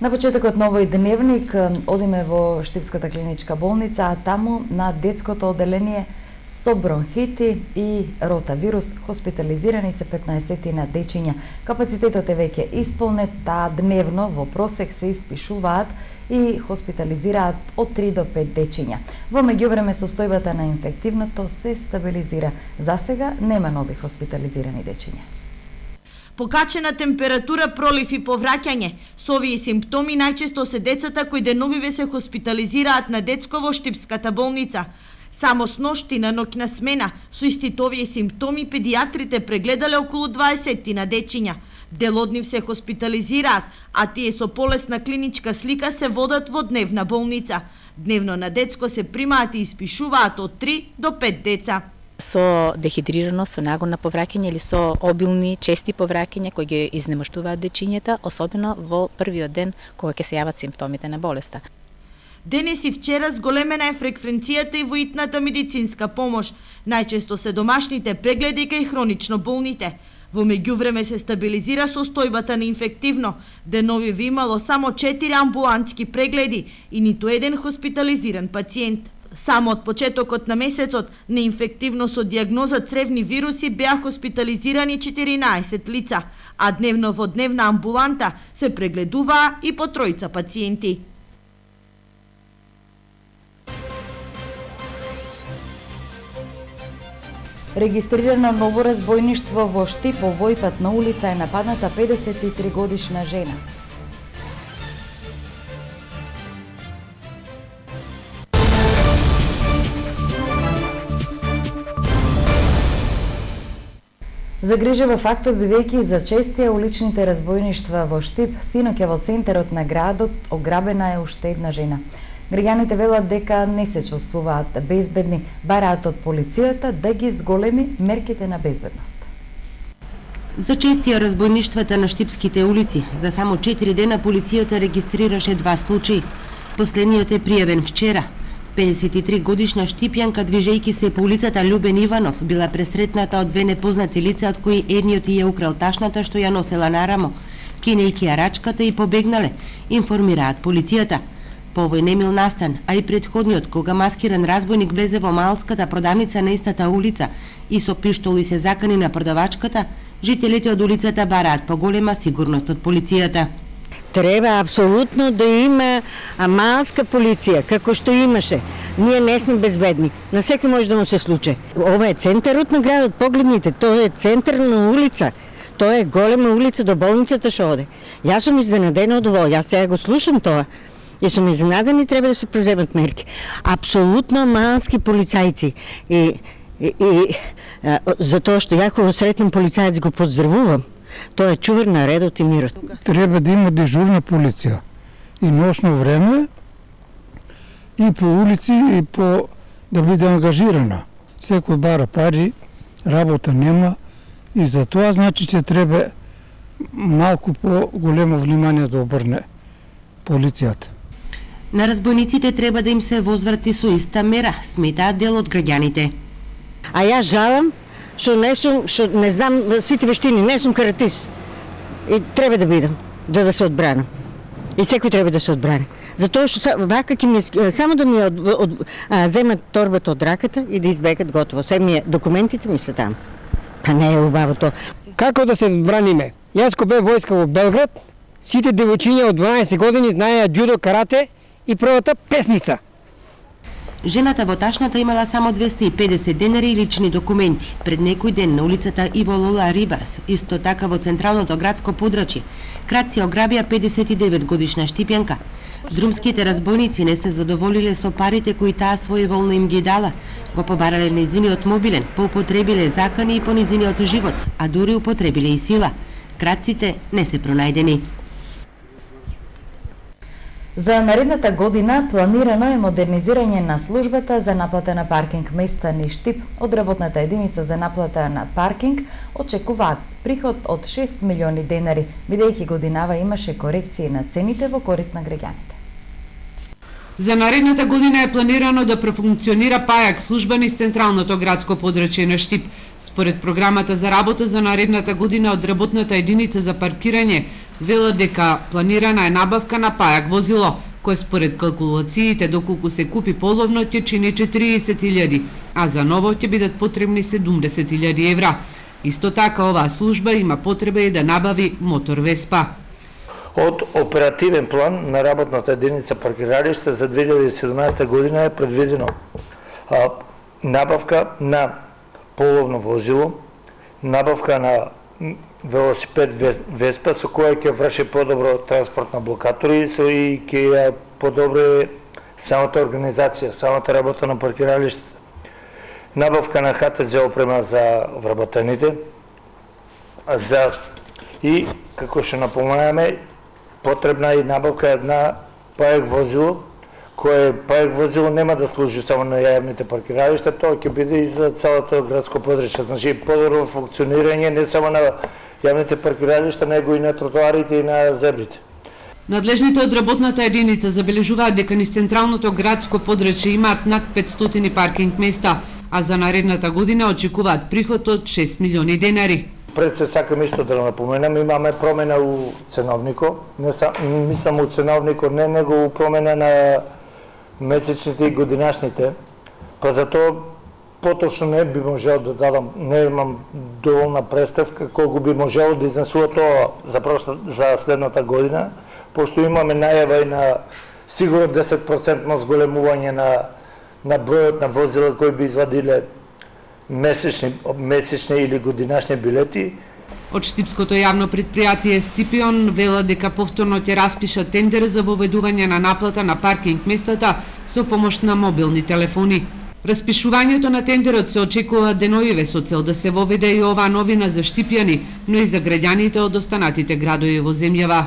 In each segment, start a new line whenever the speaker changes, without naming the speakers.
На почетокот на овој дневник одиме во Штипската клиничка болница, а таму на детското одделение со бронхити и ротавирус хоспитализирани се 15 на дечиња. Капацитетот е веќе исполнет, таа дневно во просек се испишуваат и хоспитализираат од 3 до 5 дечиња. Во меѓувреме состојбата на инфективното се стабилизира. За сега нема нови хоспитализирани дечиња.
Покачена температура, пролив и повраќање. Со овие симптоми најчесто се децата кои деновиве се хоспитализираат на детско во Штипската болница. Само с ношти на ноќна смена со истите овие симптоми педиатрите прегледале околу 20 на дечиња. Дел од нив се хоспитализираат, а тие со полесна клиничка слика се водат во дневна болница. Дневно на детско се примаат и испишуваат од 3 до 5 деца.
Со дехидрираност, со нагон на повраќање или со обилни, чести повраќања кои ги изнемоштуваат дечињата, особено во првиот ден кога ќе се јават симптомите на болеста.
Денес и вчера зголемена е фреквенцијата и во итната медицинска помош. Најчесто се домашните прегледи кај хронично болните. Во меѓувреме се стабилизира состојбата на инфективно. Деновиве имало само 4 амбулантски прегледи и ниту еден хоспитализиран пациент. Само од почетокот на месецот на инфективно со дијагноза цревни вируси беа хоспитализирани 14 лица, а дневно во дневна амбуланта се прегледуваа и по 3 пациенти.
Регистрирано ново разбојништво во Штип, во Војпатна улица е нападната 53 годишна жена. Загрижува фактот бидејќи за честија уличните разбојништва во Штип, синоќа во центарот на градот ограбена е уште една жена. Граѓаните велат дека не се чувствуваат безбедни, бараат од полицијата да ги зголеми мерките на безбедност.
За честија разбојништвата на штипските улици, за само 4 дена полицијата регистрираше 2 случаи. Последниот е пријавен вчера. 53 годишна штипјанка, движејќи се по улицата Љубен Иванов, била пресретната од 2 непознати лица, од кои едниот ја украл ташната што ја носела на рамо. Кинејќи ја рачката и побегнале, информираат полицијата. По овој немил настан, а и предходниот, кога маскиран разбойник влезе во малската продавница на истата улица и со пиштоли се закани на продавачката, жителите од улицата бараат поголема сигурност од полицијата.
Треба апсолутно да има малска полиција, како што имаше. Ние не сме безбедни. На секој може да му се случи. Ова е центарот на градот, погледнете, тоа е централна улица. Тоа е голема улица до болницата што оде. Јас сум изненадена од ово, јас сега го слушам тоа. И сум изненаден и треба да се преземат мерки. Апсолутно малски полицајци. И за тоа што ја кога сретнем полицајец го поздравувам. Тоа е чувар на редот и мирот.
Треба да има дежурна полиција и носно време и по улици и по да биде ангажирана. Секој бара пари, работа нема и за тоа значи че треба малку по-големо внимание да обрне полицијата.
На разбойниците треба да им се возврати со иста мера, сметаат дел од граѓаните.
А јас жалам што не знам сите вештини, не сум каратист. И треба да бидам, да се одбранам. И секој треба да се одбрани. Затоа што вака ќе ми само да ми земат торбата од раката и да избегат готово. Се документите ми се там. Па не е убаво тоа.
Како да се браниме? Јас ко бе војска во Белград, сите девојчиња од 12 години знаеа џудо, карате и првата песница.
Жената во ташната имала само 250 денари и лични документи. Пред некој ден на улицата Иво Лола Рибарс, исто така во централното градско подрачје, кратци ограбија 59 годишна штипјанка. Друмските разбойници не се задоволиле со парите кои таа своеволно им ги дала. Го побарале незиниот мобилен, поупотребиле закани и по незиниот живот, а дури употребиле и сила. Кратците не се пронајдени.
За наредната година планирано е модернизирање на службата за наплата на паркинг места низ Штип. Од работната единица за наплата на паркинг очекуваат приход од 6 милиони денари, бидејќи годинава имаше корекции на цените во корист на граѓаните.
За наредната година е планирано да профункционира пајак служба низ централното градско подрачје на Штип. Според програмата за работа за наредната година од работната единица за паркирање, Велат дека планирана е набавка на пајак возило, кој според калкулациите доколку се купи половно ќе чини 40.000, а за ново ќе бидат потребни 70.000 евра. Исто така оваа служба има потреба и да набави мотор Веспа.
Од оперативен план на работната единица паркиралиште за 2017 година е предвидено набавка на половно возило, набавка на велосипед Веспа со која ќе врши подобро транспорт на блокатори и ќе подобри самата организација, самата работа на паркиралиштата. Набавка на ХТЗ опрема за вработените, и како што напомнаваме, потребна и набавка на пајак возило, кое пајак возило нема да служи само на јавните паркиралишта, тоа ќе биде и за целото градско подрачје. Значи, подобро функционирање не само на јавните паркиралишта, него и на тротоарите и на зебрите.
Надлежните од работната единица забележуваат дека низ централното градско подрачје имаат над 500 паркинг места, а за наредната година очекуваат приход од 6 милиони денари.
Пред се сакам исто да напоменам, имаме промена у ценовнико, не само у ценовнико, не него промена на месечните и годинашните, па затоа поточно не би можел да дадам, не имам доволна представка колку би можело да изнесува тоа за следната година, пошто имаме најава и на сигурно 10% зголемување на бројот на возила кои би извадиле месечни или годинашни билети.
Од Штипското јавно предпријатие Стипион велат дека повторно ќе распишат тендер за воведување на наплата на паркинг местата со помош на мобилни телефони. Распишувањето на тендерот се очекува деноиве со цел да се воведе и оваа новина за штипјани, но и за граѓаните од останатите градови во земјава.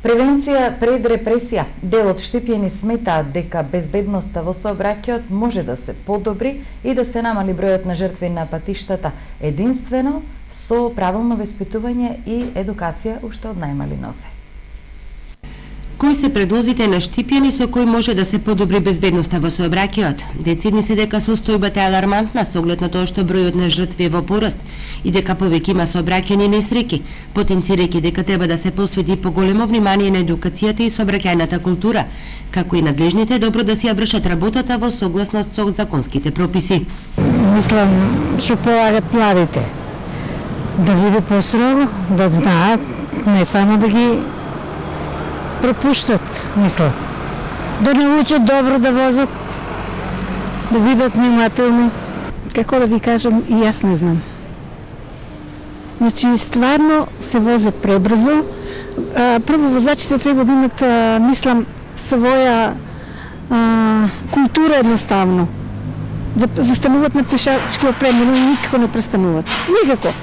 Превенција пред репресија. Дел од штипјани сметаат дека безбедноста во сообраќајот може да се подобри и да се намали бројот на жртви на патиштата, единствено со правилно веспитување и едукација уште од најмали нозе.
Кои се предлозите на штипјани со кои може да се подобри безбедноста во сообраќајот? Децидни се дека состојбата е алармантна со оглед на тоа што бројот на жртви е во пораст и дека повеќе има сообраќајни несреќи, потенцирајќи дека треба да се посвети поголемо внимание на едукацијата и сообраќајната култура, како и надлежните добро да си ја вршат работата во согласност со законските прописи.
Мислам што полагат младите да биде построго, да знаат, не само да ги пропуштат, мислам. Да научат добро да возат, да бидат внимателни. Како да ви кажам, и јас не знам. Значи, стварно се возе пребрзо. Прво, возачите треба да имат, мислам, своја култура едноставно. Да застануват на пешачки опремено и никако не престануват. Никако.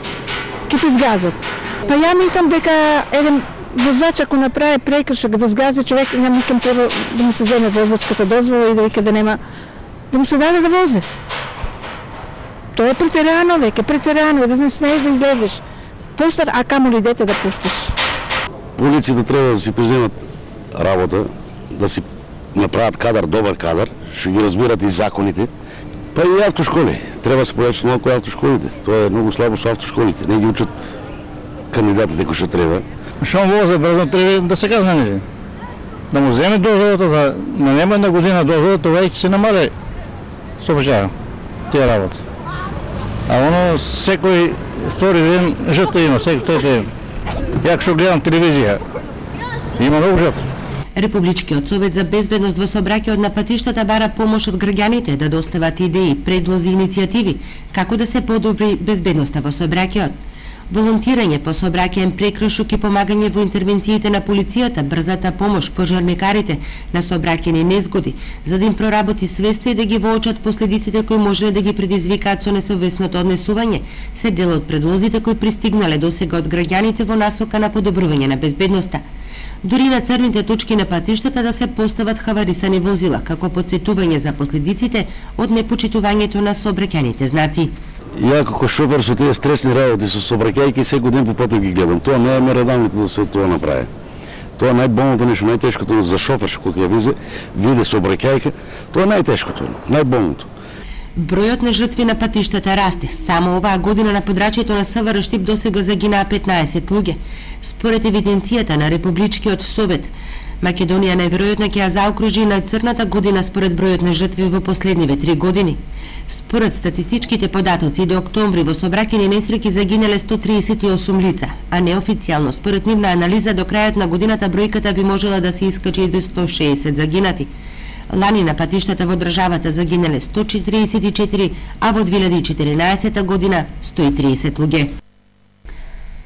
Ке те сгазат. Па ја мислам дека еден возач ако направи прекршок да сгази човек, ја мислам треба да му се земе возачката дозвола и да вика да нема, да му се даде да возе. Тоа е претерано, веќе претерано, да не смееш да излезеш. Постар, а камо ли дете да пуштиш?
Полицијата треба да си преземат работа, да си направат кадар, добар кадар, што ги разбират и законите. Па и автошколи. Треба да се појачат малку автошколите. Тоа е многу слабо со автошколите. Не ги учат кандидатите кои што треба.
Што возе брзо треба да се казна нели? Да му земе дозволата за на нема една година дозвола, тоа ќе се намале сообраќајот. Тие работи. А оно секој втори ден жртва има, секој трети ден. Ја што гледам телевизија, има многу жртви.
Републичкиот совет за безбедност во сообраќајот на патиштата бара помош од граѓаните да достават идеи, предлози и иницијативи како да се подобри безбедноста во сообраќајот. Волонтирање по сообраќајен прекршок и помагање во интервенциите на полицијата, брзата помош, пожарникарите на сообраќајни незгоди, за да им проработи свеста и да ги воочат последиците кои можеле да ги предизвикаат со несовесното однесување, се дел од предлозите кои пристигнале досега од граѓаните во насока на подобрување на безбедноста. Дури на црните точки на патиштата да се постават хаварисани возила, како потсетување за последиците од непочитувањето на сообраќајните знаци.
Ја како шофер со тие стресни работи со сообраќајки секој ден по патот ги гледам. Тоа не е меродавното да се тоа направи. Тоа е најболното нешто, најтешкото за шофер кога ќе виде сообраќајка, тоа е најтешкото, најболното.
Бројот на жртви на патиштата расте. Само оваа година на подрачјето на СВР Штип досега загинаа 15 луѓе. Според евиденцијата на Републичкиот совет, Македонија најверојатно ќе ја заокружи најцрната година според бројот на жртви во последниве 3 години. Според статистичките податоци до октомври во сообраќајни несреќи загинале 138 лица, а неофицијално според нивна анализа до крајот на годината бројката би можела да се искачи до 160 загинати. Лани на патиштата во државата загинале 144, а во 2014 година 130 луѓе.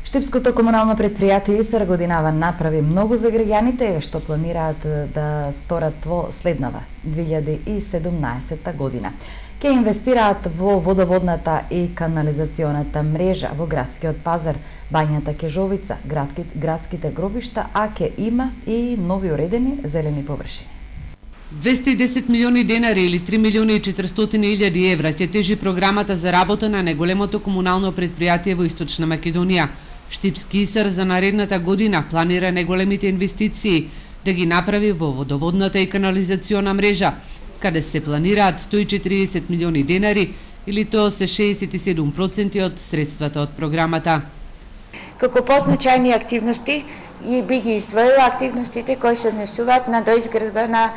Штипското комунално предпријатие ИСР годинава направи многу за граѓаните што планираат да сторат во следнава 2017 година. Ке инвестираат во водоводната и канализационата мрежа во градскиот пазар, бањата Кежовица, градските гробишта, а ке има и нови уредени зелени површини.
210 милиони денари или 3 милиони и 400 илјади евра ќе тежи програмата за работа на најголемото комунално предпријатие во Источна Македонија. Штипски ИСР за наредната година планира најголемите инвестиции да ги направи во водоводната и канализациона мрежа, каде се планираат 140 милиони денари или тоа се 67% од средствата од програмата.
Како позначајни активности и би ги издвоила активностите кои се однесуваат на доизградба на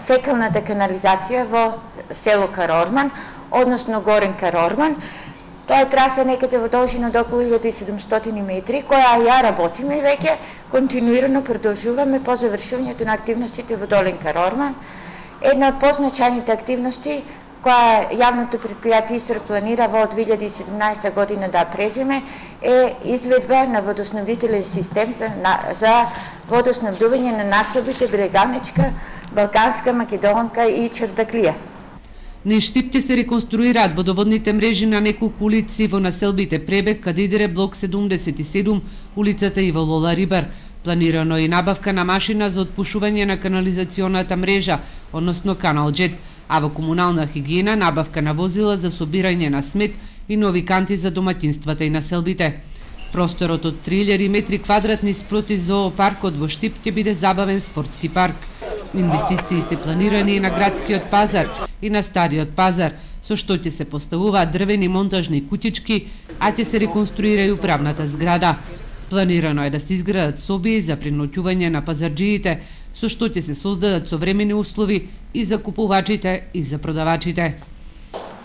фекалната канализација во село Карорман, односно Горен Карорман. Тоа е траса некаде во должина до околу 1700 метри, која ја работиме веќе, континуирано продолжуваме по завршувањето на активностите во Долен Карорман. Една од позначајните активности која јавното предпријатие ИСР планира во 2017 година да преземе е изведба на водоснабдителен систем за водоснабдување на населбите Брегалничка, Балканска, Македонка и Чардаклија.
Низ Штип ќе се реконструираат водоводните мрежи на неколку улици во населбите Пребег, Кадидере, блок 77, улицата Иво Лола Рибар. Планирано и набавка на машина за отпушување на канализационата мрежа, односно каналџет, а во комунална хигиена набавка на возила за собирање на смет и нови канти за домаќинствата и населбите. Просторот од 3000 метри квадратни спроти зоопаркот во Штип ќе биде забавен спортски парк. Инвестиции се планирани и на градскиот пазар и на стариот пазар, со што ќе се поставуваат дрвени монтажни куќички, а ќе се реконструира и управната зграда. Планирано е да се изградат соби за преноќување на пазарџиите, со што ќе се создадат современи услови и за купувачите и за продавачите.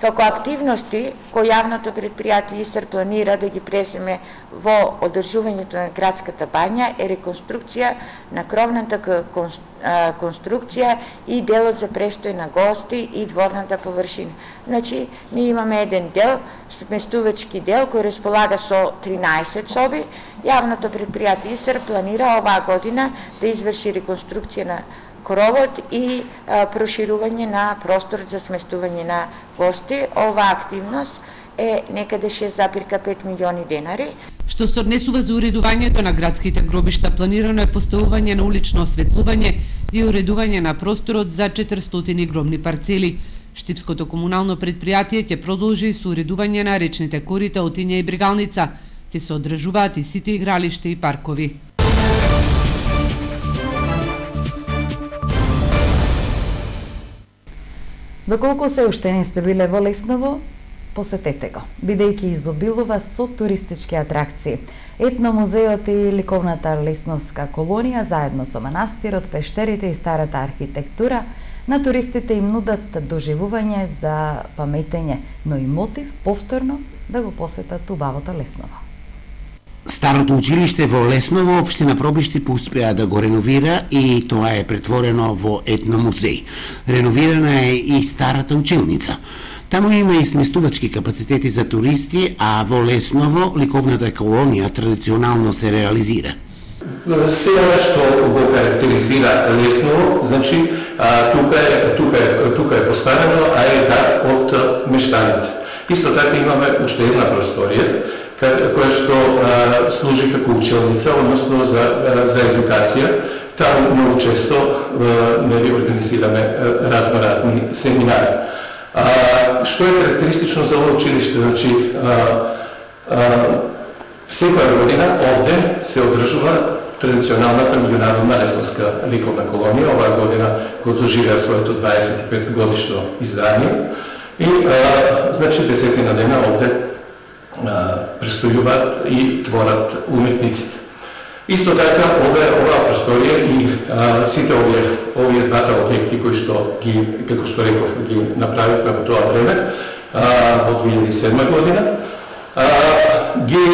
Како активности кои јавното предпријатие ИСР планира да ги преземе во одржувањето на градската бања е реконструкција на кровната конструкција и делот за престој на гости и дворната површина. Значи, ние имаме еден дел, сместувачки дел, кој располага со 13 соби. Јавното предпријатие ИСР планира оваа година да изврши реконструкција на кровот и проширување на простор за сместување на гости. Оваа активност е некаде 6,5 милиони денари.
Што се однесува за уредувањето на градските гробишта, планирано е поставување на улично осветлување и уредување на просторот за 400 гробни парцели. Штипското комунално предпријатие ќе продолжи со уредување на речните корита Отиња и Брегалница. Ќе се одржуваат и сите игралишта и паркови.
Доколку се уште не сте биле во Лесново, посетете го, бидејќи изобилува со туристички атракции. Етномузеот и ликовната лесновска колонија, заедно со манастирот, пештерите и старата архитектура, на туристите им нудат доживување за паметење, но и мотив повторно да го посетат убавото Лесново.
Старото училиште во Лесново, општина Пробишти, успеа да го реновира и тоа е претворено во етномузеј. Реновирана е и старата училница. Таму има и сместувачки капацитети за туристи, а во Лесново ликовната колонија традиционално се реализира.
Се што го карактеризира Лесново, значи тука е поставено, а е дар од мештаните. Исто така имаме уште една просторија која што служи како училница, односно за едукација. Таму многу често организираме разни семинари. Што е карактеристично за ова училиште? Значи, секоја година овде се одржува традиционалната меѓународна лесновска ликовна колонија. Оваа година го доживеа своето 25 годишно издание. И, значи, 10 дена овде престојуваат и творат уметниците. Исто така, оваа просторија и сите овие двата објекти кои што ги, како што реков, ги направивме во тоа време, во 2007 година, ги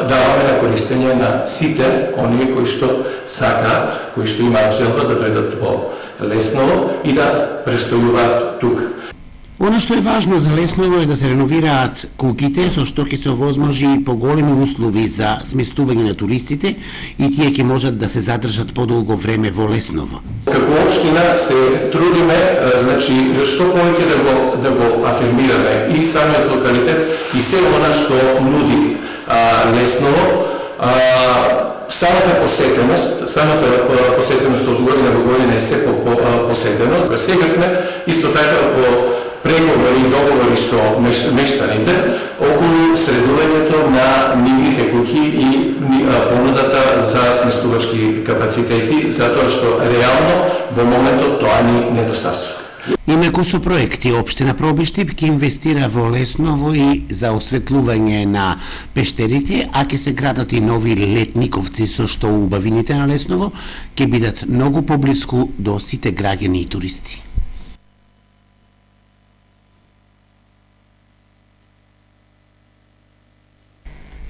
даваме на користење на сите оние кои што сакаат, кои што имаат желба да дојдат во Лесново и да престојуваат тука.
Оно што е важно за Лесново е да се реновираат куќите, со што ќе се овозможи поголеми услови за сместување на туристите и тие ќе можат да се задржат подолго време во Лесново.
Како општина се трудиме, значи, што повеќе да го афирмираме и самиот локалитет и се она што нуди Лесново. Самата посетеност од година во година е се посетено. Сега сме исто така во преговори и договори со мештаните околу средувањето на нивните куќи и понудата за сместувачки капацитети, затоа што реално во моментот тоа ни недостасува.
Инаку со проекти општина Пробиштип ќе инвестира во Лесново и за осветлување на пештерите, а ќе се градат и нови летниковци со што убавините на Лесново ќе бидат многу поблиску до сите граѓани и туристи.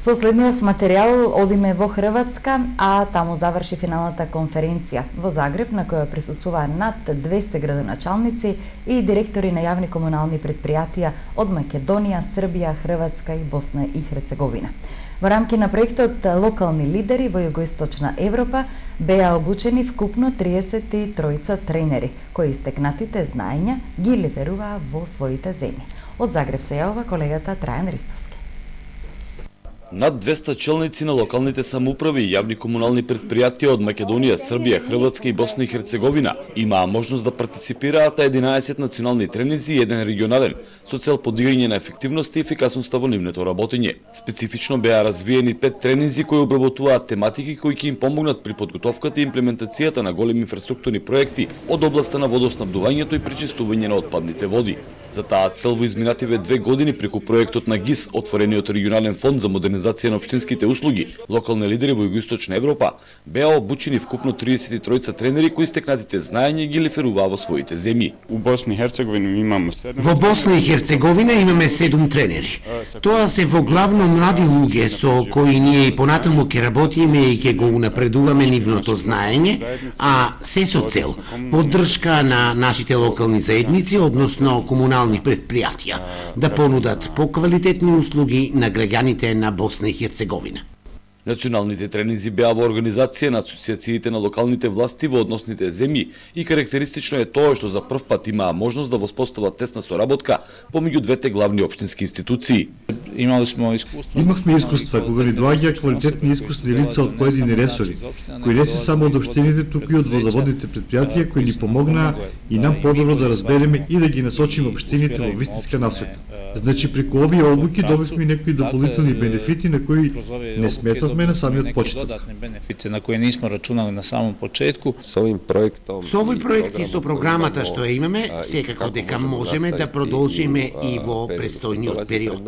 Со следниот материјал одиме во Хрватска, а таму заврши финалната конференција во Загреб, на која присуствуваа над 200 градоначалници и директори на јавни комунални предпријатија од Македонија, Србија, Хрватска и Босна и Херцеговина. Во рамки на проектот локални лидери во Југоисточна Европа беа обучени вкупно 33 тренери, кои истекнатите знаења ги лиферуваа во своите земји. Од Загреб се јавува колегата Трајан Ристовски.
Над 200 челници на локалните самоуправи и јавни комунални предпријатија од Македонија, Србија, Хрватска и Босна и Херцеговина имаа можност да партиципираат на 11 национални тренинзи и еден регионален, со цел подигање на ефективност и ефикасноста во нивното работење. Специфично беа развиени 5 тренинзи кои обработуваат тематики кои ќе им помогнат при подготовката и имплементацијата на големи инфраструктурни проекти од областа на водоснабдувањето и пречистување на отпадните води. За таа цел во изминативе 2 години преку проектот на ГИС, отворениот регионален фонд за модернизација на општинските услуги, локални лидери во Југоисточна Европа беа обучени вкупно 33 тренери кои стекнатите знаења ги лиферуваа во своите земји.
Во Босна и Херцеговина имаме
7 тренери. Тоа се во главно млади луѓе со кои ние и понатаму ќе работиме и ќе го унапредуваме нивното знаење, а се со цел поддршка на нашите локални заедници, односно комунални предпријатија, да понудат поквалитетни услуги на граѓаните на Босна и Херцеговина.
Националните тренинзи беа во организација на асоциациите на локалните власти во односните земји и карактеристично е тоа што за прв пат имаа можност да воспостават тесна соработка помеѓу двете главни општински институции.
Имавме искуства кога ни доаѓа квалитетни искусни лица од поедини ресори, кои не се само од општините, туку и од водоводните предпријатија кои ни помогнаа и нам подобро да разбереме и да ги насочиме општините во вистинска насока. Значи, преку овие обуки добивме некои дополнителни бенефити на кои не сметавме на самиот почеток.
На кои не сме рачунали на самом почетку.
Со овој проект и со програмата што ја имаме, секако дека можеме да продолжиме и во престојниот период.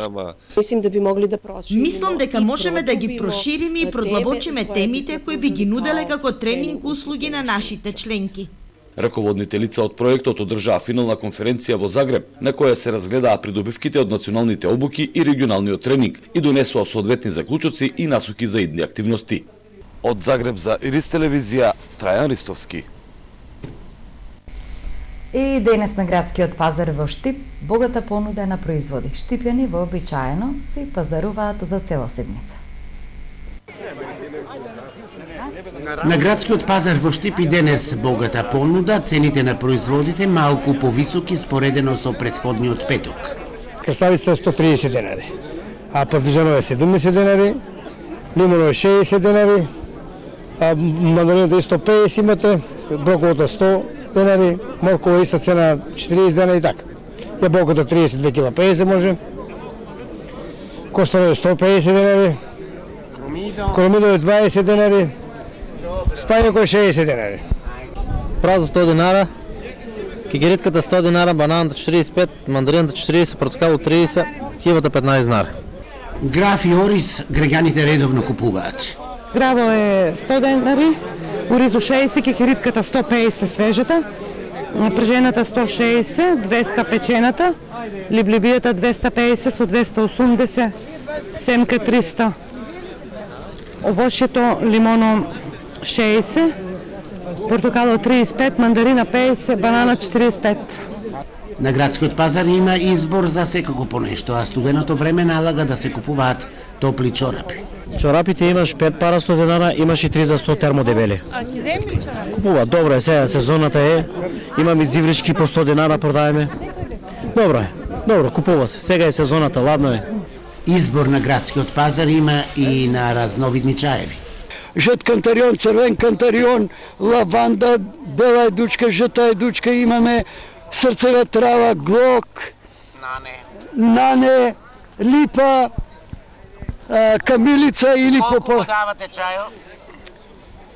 Мислам дека можеме да ги прошириме и продлабочиме темите кои би ги нуделе како тренинг услуги на нашите членки.
Раководните лица од проектот одржаа финална конференција во Загреб, на која се разгледаа придобивките од националните обуки и регионалниот тренинг и донесоа соодветни заклучоци и насоки за идни активности. Од Загреб за Ирис телевизија, Трајан Ристовски.
И денес на градскиот пазар во Штип богата понуда на производи. Штипјани вообичаено се пазаруваат за цела седмица.
На градскиот пазар во Штип и денес богата понуда, цените на производите малку повисоки споредено со претходниот петок.
Краставица е 130 денари, а пармезано е 70 денари, лимоно е 60 денари, а мандарината е 150 имате, броколата 100 денари, моркова иста цена 40 денари и така. Јаболката 32 кила 50 може, коштано е 150 денари, кромидо е 20 денари, спајако е 60 денари.
Праза 100 денара, кикиритката 100 динара, бананата 45, мандарината 40, портокало 30, кивата 15 динара.
Граф и ориз граѓаните редовно купуваат.
Граво е 100 денари, оризу 60, кикиритката 150 свежата, пржената 160, 200 печената, либлибијата 250 со 280, семка 300, овошјето лимоно 60, портокало 35, мандарина 50, банана 45.
На градскиот пазар има избор за секако по нешто, а студеното време налага да се купуваат топли чорапи.
Чорапите имаш 5 пара 100 динара, имаш и 3 за 100 термодебели. Купува, добро е, сега сезоната е, имам и зиврички по 100 динара продаеме. Добро е, добро, купува се, сега е сезоната, ладно е.
Избор на градскиот пазар има и на разновидни чаеви.
Жът кантарион, црвен кантарион, лаванда, бела едучка, жъта едучка, имаме срцева трава, глок, нане, липа, камилица или попо.
Колку давате чајот?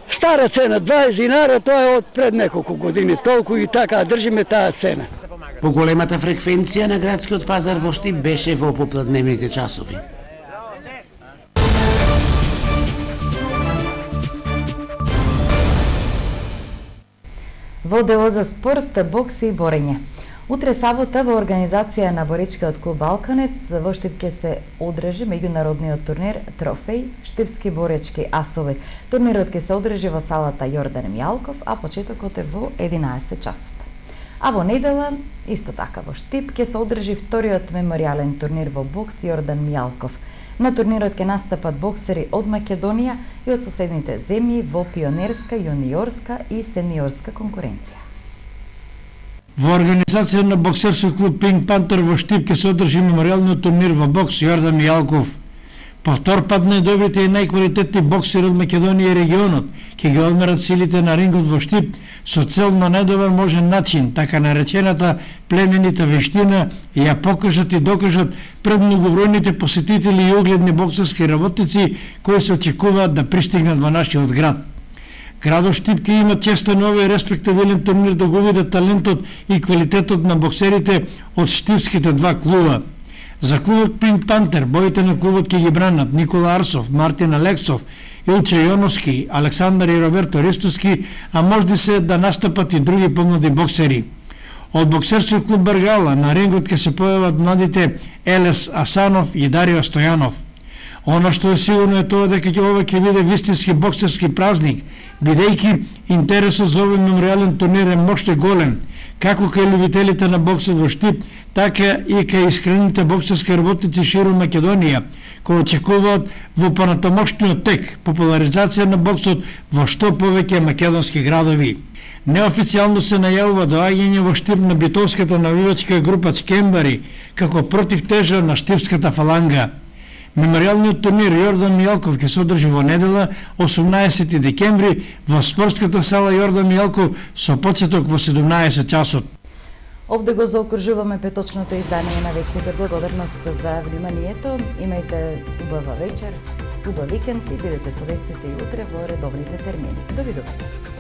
Стара цена, 20 динара, тоа е од пред неколку години, толку и така држиме таа цена.
Поголемата фреквенција на градскиот пазар во Штип беше во попладневните часови.
Во делот за спорт, бокс и борење. Утре сабота во организација на боречкиот клуб Балканет во Штип ќе се одржи меѓународниот турнир Трофеј Штипски боречки асови. Турнирот ќе се одржи во салата Јордан Мјалков, а почетокот е во 11 часот. А во недела, исто така во Штип, ќе се одржи вториот меморијален турнир во бокс Јордан Мјалков. На турнирот ќе настапат боксери од Македонија и од соседните земји во пионерска, јуниорска и сениорска конкуренција.
Во организација на боксерски клуб Пинк Пантер во Штип ќе се одржи меморијалниот турнир во бокс Јордан Мјалков. По втор пат најдобрите и најквалитетни боксери од Македонија и регионот ќе ги одмерат силите на рингот во Штип со цел на најдобар можен начин, така наречената племенита вештина, и ја покажат и докажат пред многобројните посетители и огледни боксерски работници кои се очекуваат да пристигнат во нашиот град. Градот Штип ќе има често на овој респектабилен турнир да го видат талентот и квалитетот на боксерите од штипските два клуба. За клубот Пинк Пантер боите на клубот ќе ги бранат Никола Арсов, Мартин Алексов, Илче Јоновски, Александар и Роберто Ристовски, а можди се да настапат и други помлади боксери. Од боксерски клуб Баргала на рингот ќе се појават младите Елес Асанов и Дарио Стојанов. Оно што е сигурно е тоа дека ова ќе биде вистински боксерски празник, бидејќи интересот за овој меморијален турнир е моште голем, како кај любителите на боксот во Штип, така и кај искрените боксерски работници широм Македонија, кои очекуваат во понатамошниот тек популаризација на боксот во што повеќе македонски градови. Неофицијално се најавува доаѓање во Штип на битовската навивачка група Скембари како противтежа на штипската фаланга. Меморијалниот турнир Јордан Мјалков ќе се одржи во недела 18 декември во спортската сала Јордан Мјалков со почеток во 17 часот.
Овде го заокружуваме петочното издание на вестите. Благодарност за вниманието. Имајте убава вечер, убав викенд и бидете со вестите и утре во редовните термини. Довидување.